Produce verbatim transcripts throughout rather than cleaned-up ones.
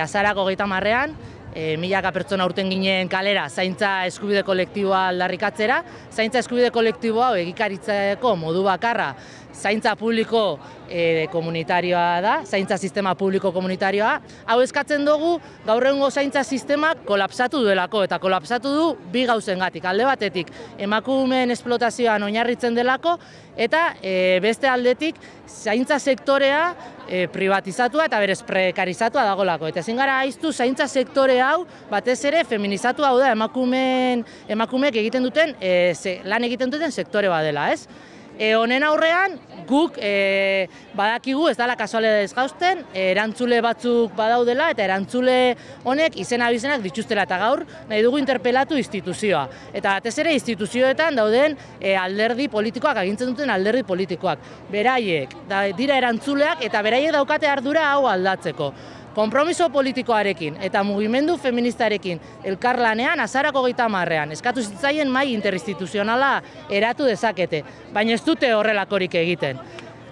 azarako hogeita hamarrean, E, milaka pertsona urten ginen kalera zaintza eskubide kolektiboa aldarrikatzera. Zaintza eskubide kolektiboa egikaritzeko modu bakarra zaintza publiko e, komunitarioa da, zaintza sistema publiko komunitarioa. Hau eskatzen dugu gaur egungo zaintza sistemak kolapsatu duelako, eta kolapsatu du bi gauzengatik. Alde batetik emakumeen esplotazioan oinarritzen delako, eta e, beste aldetik zaintza sektorea e, privatizatua eta berez prekarizatua dagolako. Eta ezin gara aiztu zaintza sektore hau batez ere feminizatu hau da emakumeen emakumeek egiten duten e, ze, lan egiten duten sektore badela, ez? E, honen aurrean guk e, badakigu ez dela kasualidadez gauzten, erantzule batzuk badaudela eta erantzule honek izena abizenak dituztela, eta gaur nahi dugu interpelatu instituzioa. Eta batez ere instituzioetan dauden e, alderdi politikoak, agintzen duten alderdi politikoak. Beraiek da, dira erantzuleak eta beraiek daukate ardura hau aldatzeko. Konpromiso politikoarekin eta mugimendu feministarekin elkarlanean azarako hogeita hamarrean eskatu zitzaien mahai interinstituzionala eratu dezakete, baina ez dute horrelakorik egiten.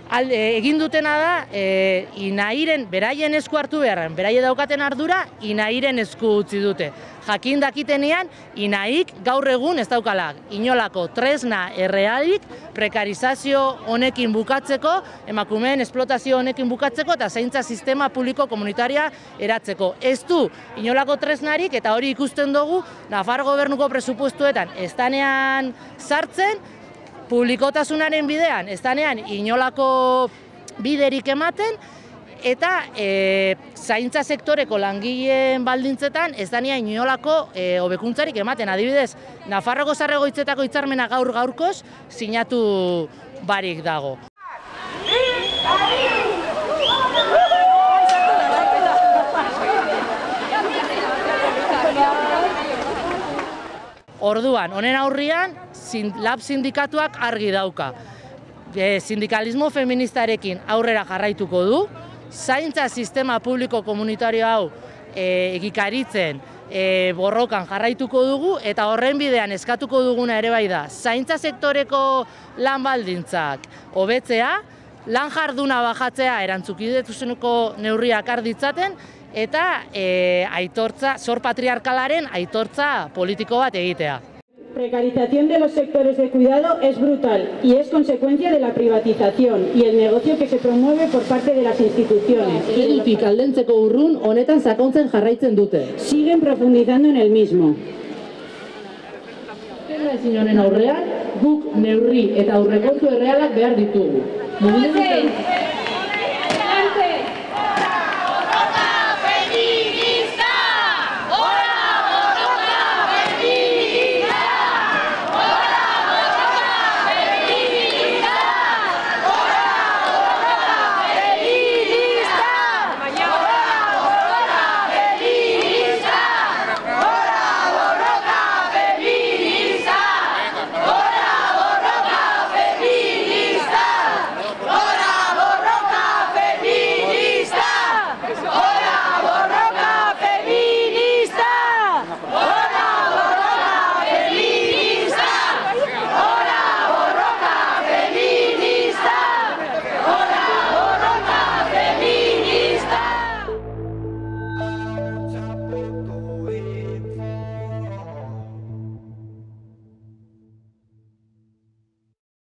Al, e, egin dutena da, e, Inairen beraien esku hartu beharren, beraie daukaten ardura Inairen esku utzi dute. Jakin dakitenean, Inaik gaur egun ez daukala inolako tresna errealik prekarizazio honekin bukatzeko, emakumeen esplotazio honekin bukatzeko eta zaintza sistema publiko komunitaria eratzeko. Ez du inolako tresnarik, eta hori ikusten dugu Nafar gobernuko presupuestuetan ez danean sartzen, publikotasunaren bidean ez danean inolako biderik ematen, eta e, zaintza sektoreko langileen baldintzetan ez danean inolako e, hobekuntzarik ematen. Adibidez, Nafarroko Zaharregoitzetako hitzarmena gaur gaurkoz sinatu barik dago. Orduan, honen aurrian, lab sindikatuak argi dauka. E, sindikalismo feministarekin aurrera jarraituko du, zaintza sistema publiko komunitario hau e, egikaritzen e, borrokan jarraituko dugu, eta horren bidean eskatuko duguna ere bai da, zaintza sektoreko lan baldintzak hobetzea, lan jarduna bajatzea erantzukidetuzuneko neurriak har ditzaten, eta e, aitortza, zor patriarkalaren aitortza politiko bat egitea. Precarización de los sectores de cuidado es brutal y es consecuencia de la privatización y el negocio que se promueve por parte de las instituciones. Eredutik aldentzeko urrun honetan sakontzen jarraitzen dute. Siguen profundizando en el mismo. Ezin honen aurrean, guk neurri eta aurrekontu errealak behar ditugu.